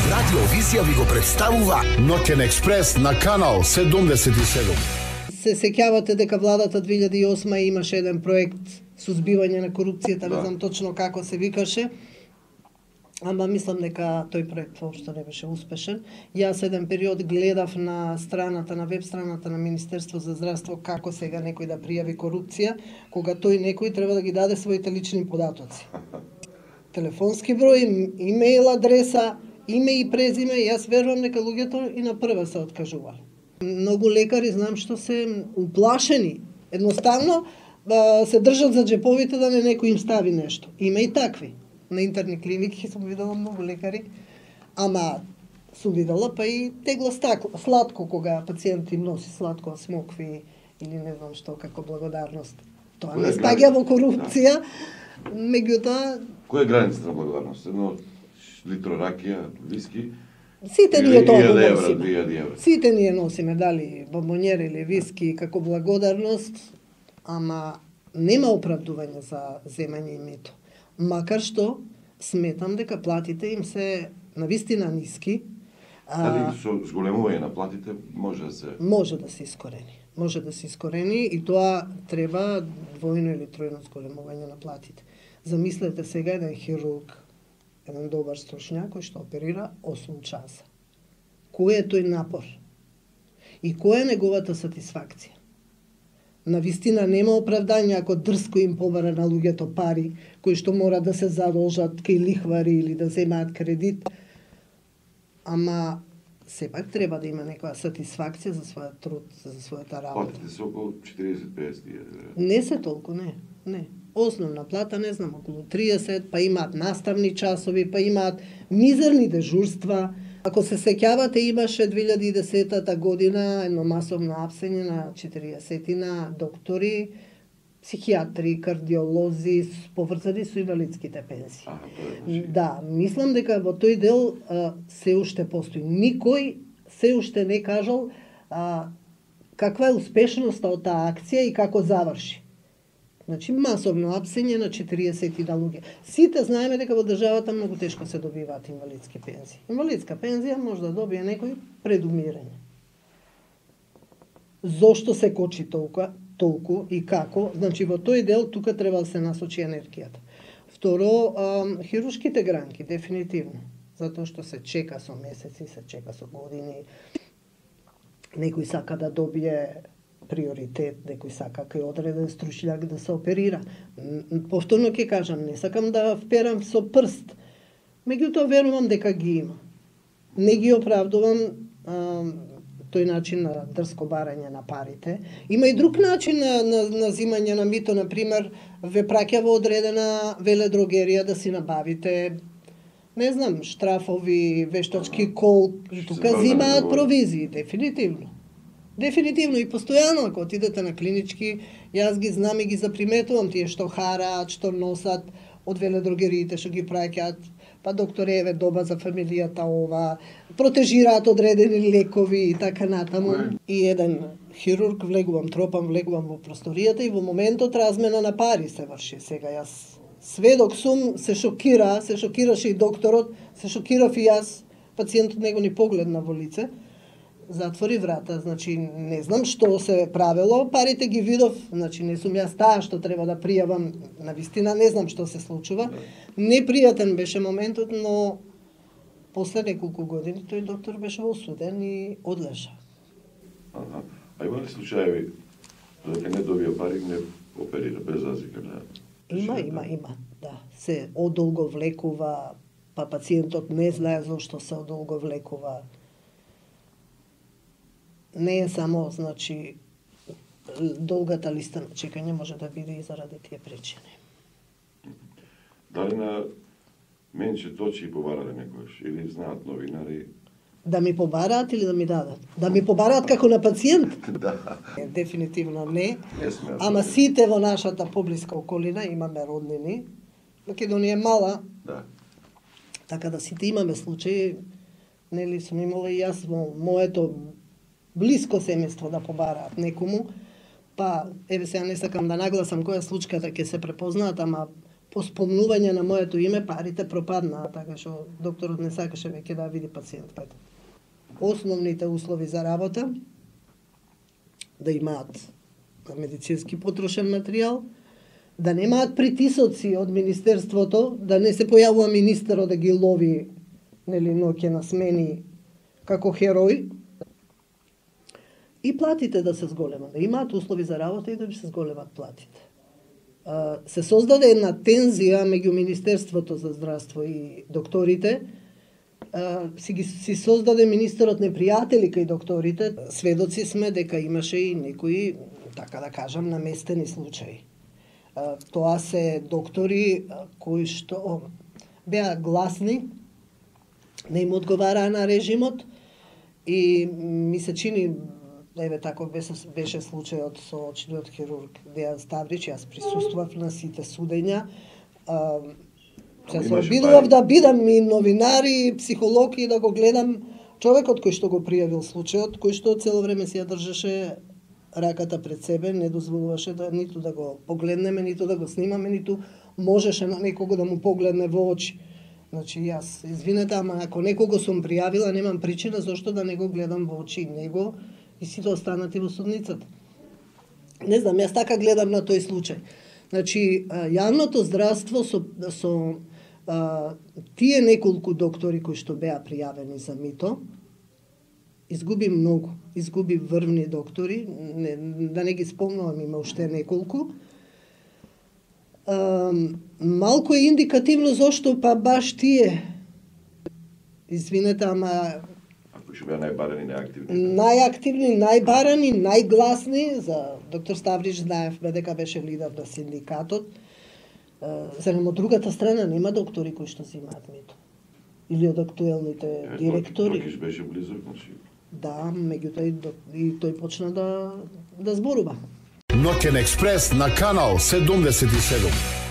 Радио Визија ви го представува Ноќен експрес на канал 77. Се сеќавате дека владата 2008 имаше еден проект сузбивање на корупцијата, не знам точно како се викаше, ама мислам дека тој проект воопшто не беше успешен. Јас еден период гледав на страната, на веб страната на Министерство за здравство како сега некој да пријави корупција, кога тој некој треба да ги даде своите лични податоци. Телефонски број, имејл адреса, име и презиме, јас верувам дека луѓето и на прва се откажувале. Многу лекари знам што се уплашени, едноставно се држат за џеповите да не некој им стави нешто. Има и такви. На интерни клиники сум видела многу лекари, ама сум видела па и тегло сладко кога пациент им носи сладко, смокви или не знам што како благодарност. Тоа не спаѓа во корупција, меѓутоа... Која е границата на благодарност? Едно литро ракија, виски? Сите ние тоа го носиме. 2000 евра. Сите ние носиме, дали бомбонјер или виски како благодарност, ама нема оправдување за земање и мито. Макар што сметам дека платите им се навистина ниски. Дали со зголемување на платите може да се... Може да се искорени. Може да се искорени и тоа треба двојно или тројно зголемување на платите. Замислете сега еден хирург, еден добар стручњак кој што оперира 8 часа. Кој е тој напор? И која е неговата сатисфакција? Навистина нема оправдање ако дрско им побара на луѓето пари, кои што мора да се задолжат кај лихвари или да земаат кредит. Ама сепак треба да има некоја сатисфакција за својот труд, за својата работа. Платите се околу 40-50 евра. Не се толку, не. Основна плата, не знам, околу 30, па имаат наставни часови, па имаат мизерни дежурства. Ако се сеќавате, имаше 2010 година едно масовно апсење на 40-на доктори, психијатри, кардиолози, поврзани со инвалидските пензии. Да, мислам дека во тој дел се уште постои. Никој се уште не кажал каква е успешноста од таа акција и како заврши. Значи, масовно апсење на 40 луѓе. Сите знаеме дека во државата многу тешко се добиваат инвалидски пензии. Инвалидска пензија може да добие некој пред умирање. Зошто се кочи толку и како? Значи, во тој дел тука треба да се насочи енергијата. Второ, хируршките гранки, дефинитивно. Затоа што се чека со месеци, се чека со години. Некој сака да добие приоритет, некој сака кај одреден стручњак да се оперира. Повторно ќе кажам, не сакам да вперам со прст, меѓутоа верувам дека ги има. Не ги оправдувам тој начин на дрско барање на парите. Има и друг начин на зимање на мито, например, ве праќа во одредена веледрогерија да си набавите, не знам, штрафови, вештачки кол, тука зимаат провизии, дефинитивно. Дефинитивно и постојано, ако отидете на клинички, јас ги знам и ги заприметувам тие што хараат, што носат од веледрогериите, што ги праќаат, па доктор еве доба за фамилијата ова, протежираат одредени лекови и така натаму. И еден хирург тропам влегувам во просторијата и во моментот размена на пари се врши. Сега јас сведок сум, се шокираше и докторот, се шокирав и јас, пациентот него ни погледна во лице. Затвори врата, значи не знам што се правело, парите ги видов, значи не сум јас таа што треба да пријавам, навистина не знам што се случува. Непријатен беше моментот, но после неколку години тој доктор беше осуден и одлежа. А има ли случаеви дека не добија пари, не оперира без разлика на... Има, да. Се одолго влекува, па пациентот не знае зошто се одолго влекува. Не е само, значи, долгата листа на чекање може да биде и заради тие причини. Дали на менче точи побарале некојаш или знаат новинари? Да ми побараат или да ми дадат? Да ми побараат како на пациент? Да. Дефинитивно не. Ама сите во нашата поблиска околина имаме роднини. Македонија е мала. Да. Така да сите имаме случаи. Нели сум имала и јас во моето блиско семејство да побараат некому, па еве сега не сакам да нагласам која случката ќе се препознаат, ама по спомнување на моето име парите пропаднаа, така што докторот не сакаше веќе да види пациентката. Основните услови за работа, да имаат медицински потрошен материјал, да немаат притисоци од Министерството, да не се појавува министерот да ги лови ноќе на смени како херој, и платите да се зголемат, да имаат услови за работа и да се зголемат платите. Се создаде една тензија меѓу Министерството за здравство и докторите, си создаде министерот непријатели кај докторите. Сведоци сме дека имаше и некои, така да кажам, наместени случаи. Тоа се доктори кои што беа гласни, не им одговараа на режимот и ми се чини, еве таков беше случајот со очниот хирург Дејан Ставрич, јас присуствував на сите судења. Се обидував да бидам и новинар и психолог и да го гледам човекот кој што го пријавил случајот, кој што цело време си ја држеше раката пред себе, не дозволуваше ниту да го погледнеме, ниту да го снимаме, ниту можеше на некого да му погледне во очи. Значи, јас, извинете, ама ако некого сум пријавила, немам причина зашто да не го гледам во очи него и сите останати во судницата. Не знам, јас така гледам на тој случај. Значи, јавното здравство со тие неколку доктори кои што беа пријавени за мито, изгуби многу, изгуби врвни доктори, да не ги спомнувам, има уште неколку. Малку е индикативно зошто па баш тие, извинете, ама кои што беа најбарани, најактивни. Најактивни, најбарани, најгласни, за доктор Ставрич знаевме дека беше лидер на синдикатот. Зарем од другата страна нема доктори кои што земаат мито. Или од актуелните директори. Макиш беше близок, значи. Да, меѓутоа и тој почна да зборува. Ноќен експрес на канал 77.